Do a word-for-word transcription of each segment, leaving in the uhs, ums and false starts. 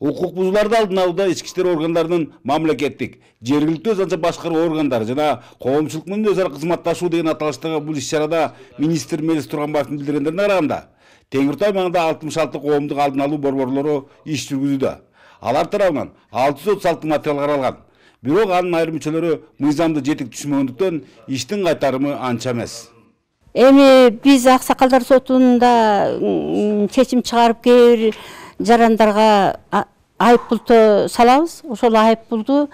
Укук бузууларды алдын алууда ички иштер органдарынын мамлекеттик, жергиликтүү өзү башкаруу органдары жана коомчулук менен өз ара кызматташуу деген аталыштагы бул иш-чарада министр Мелис Турганбаевдин билдиргендерине караганда Теңир Тау аймагында алтымыш алты коомдук алдын алуу борборлору иш жүргүзүүдө. Алар тарабынан алты жүз отуз алты материал каралган. Бирок анын айрым мүчөлөрү мыйзамды жетик түшүнбөгөндүктөн иштин кайтарымы анча эмес. Эми биз Аксакалдар сотунда чечим чыгарып кээ бир жарандарга айып пулду салабыз. Ошол айып пулду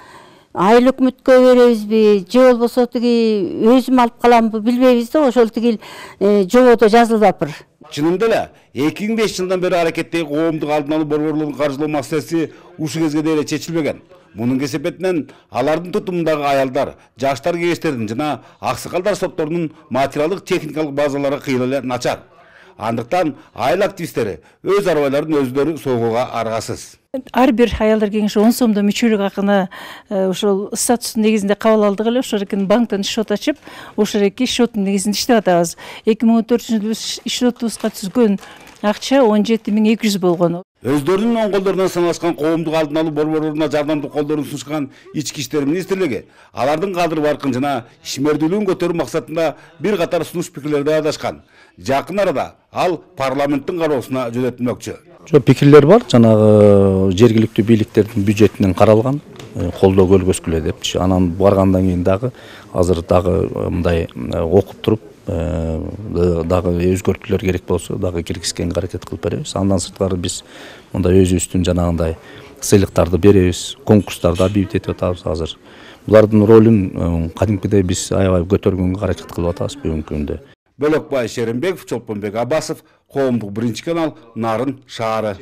айыл өкмөткө беребизби же болбосо тиги өзүм алып каламбы билбейбиз да, ошол тигил жободо жазылбаптыр. Чынында эле эки миң беш жылдан бери аракеттеги коомдук алдын алуу борборлорун каржылоо маселеси ушул кезге дейин чечилбеген. Мунун кесепетинен алардын тутумундагы аялдар, жаштар кеңештеринин жана аксакалдар сотторунун материалдык техникалык базалары кыйла эле начар. Андыктан айыл активисттери өз арбайларын өздөрү согууга аргасыз. Ар бир аялдар кеңеши он сомдо мүчөлүк акыны ошол статустун негизинде кабыл алдык эле. Ошол экен банктан шот ачып, ошол эки шоттун негизинде иштеп атабыз. эки миң он төртүнчү жылы шотубузга түзгөн акча он жети миң эки жүз болгон. Өздөрүнүн оң колдорунан саналышкан коомдук алдын алуу борборлоруна жардамдык колдорун сунушкан ички иштер министрлиги алардын кадыр баркын жана ишмердүүлүгүн көтөрүү максатында бир катар сунуш пикирлерди аядашкан. Жакын арада ал парламенттин кароосуна жөнөтүлмөкчү. Жок, пикирлер бар, жанагы жергиликтүү бийликтердин бюджетинен каралган, колдоо көргөзгүлө депчи. Анан баргандан кийин дагы азыр дагы мындай окуп туруп дагы өзгөртүүлөр керек болсо дагы киргизгенге аракет кылып беребиз. Андан сырткары биз мындай өзүбүздүн жанагындай сыйлыктарды беребиз, конкурстарды объявить этип атабыз азыр. Булардын ролун кадимкидей биз аябай көтөргөнгө аракет кылып атабыз бүгүнкү күндө. Бөлөкбай Шеримбеков, Чолпонбек Аббасов, коомдук биринчи канал, Нарын шаары.